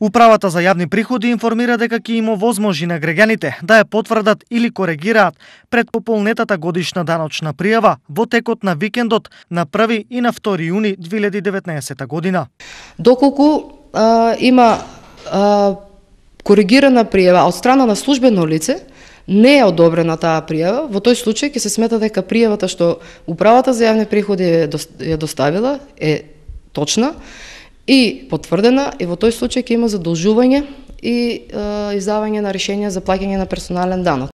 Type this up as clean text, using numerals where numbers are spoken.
Управата за јавни приходи информира дека ќе им овозможи на граѓаните да ја потврдат или коригираат пред пополнетата годишна даночна пријава во текот на викендот на 1 и на 2 јуни 2019 година. Доколку има коригирана пријава од страна на службено лице, не е одобрена таа пријава, во тој случај ќе се смета дека пријавата што Управата за јавни приходи ја доставила е точна и потврдена, и во тој случај ќе има задолжување и издавање на решение за плаќање на персонален данок.